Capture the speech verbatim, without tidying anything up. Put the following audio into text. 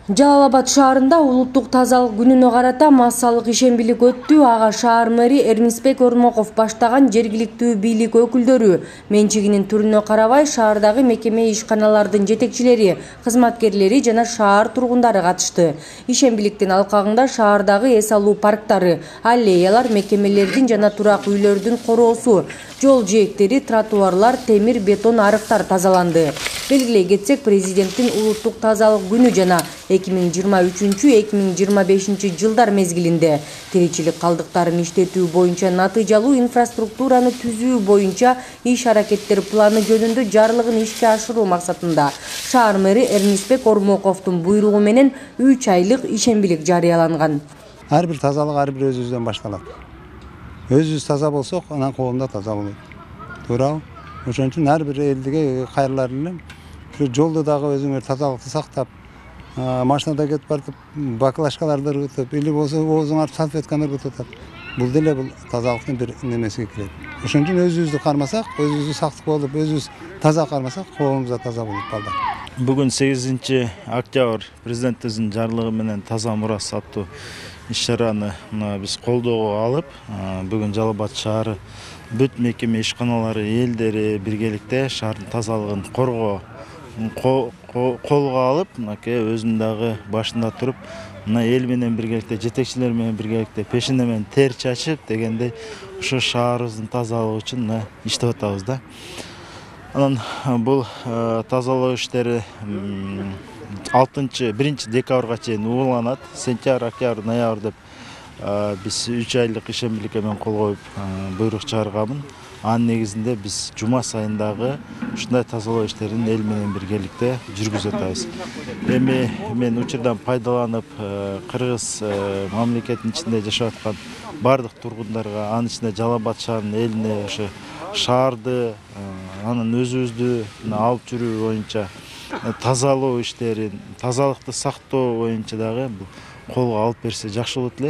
Жалал Абад шаарында улуттук тазалык күнүнө карата массалык ишембилик өттү. Ага шаар мэри Эрмисбек Ормоков баштаган жергиликтүү бийлик өкүлдөрү менчигинин түрүнө карабай шаардагы мекеме ишканалардын жетекчилери, кызматкерлери жана шаар тургундары катышты. Ишембиликтин алкагында шаардагы эс алуу парктары, аллеялар, мекемелердин жана турак үйлөрдүн короосу, жол жээктери, тротуарлар, темир бетон арыктар тазаланды. Белгилей кетсек, президенттин улуттук тазалык күнү жана эки миң жыйырма үчүнчү — эки миң жыйырма бешинчи жылдар мезгилинде тиричилик калдыктарын иштетүү боюнча натыйжалуу инфраструктураны түзүү боюнча иш-аракеттер планы жөнүндө жарлыгын ишке ашыруу максатында шаар мэри Эрмисбек Ормоковдун буйругу менен үч айлык ишембилик жарыяланган. Ар бир тазалык ар бир өзүбүздөн башталат. Өзүбүз таза болсок, анан коом да таза болот. Туурабы? Ошон үчүн ар бир элдиге кайрылар элем. Жолду дагы өзүңөр тазалыкты сактап, машинада кетип барып баклажкаларды ыргытып, или болсо оозуңар салфетканы ыргытып атат. Бул деле бул тазалыктын бир немесиге кирет. Ошон үчүн өзүбүздү кармасак, өзүбүздү сактык болуп, өзүбүз таза кармасак, коомубуз да таза болот балдар. Бүгүн сегизинчи октябрь президентибиздин жарлыгы менен таза мурас аттуу иш-чараны биз колдоого алып, бүгүн Жалал Абад шаары бүт мекеме ишканалары элдери биргеликте шаардын тазалыгын коргоо колго алып, мынакей өзүнүн дагы башында туруп, мына эл менен биргеликте, жетекчилер менен биргеликте пешене менен тер чачып дегендей ошо шаарыбыздын тазалыгы үчүн мына иштеп атабыз да. Анан бул тазалоо иштери алтынчы биринчи декабрга чейин ууланат. Сентябрь, октябрь, ноябрь деп биз үч айлык ишембиликке мен кол коюп буйрук чыгарганмын. Анын негизинде биз жума сайындагы ушундай тазалоо иштерин эл менен биргеликте жүргүзүп атабыз. Эми мен учурдан пайдаланып кыргыз мамлекетинин ичинде жашап аткан бардык тургундарга, анын ичинде Жалал Абад шаарынын элине ошо шаарды, анын өзүбүздү алып жүрүү боюнча тазалоо иштерин, тазалыкты сактоо боюнча дагы колго алып берсе жакшы болот эле.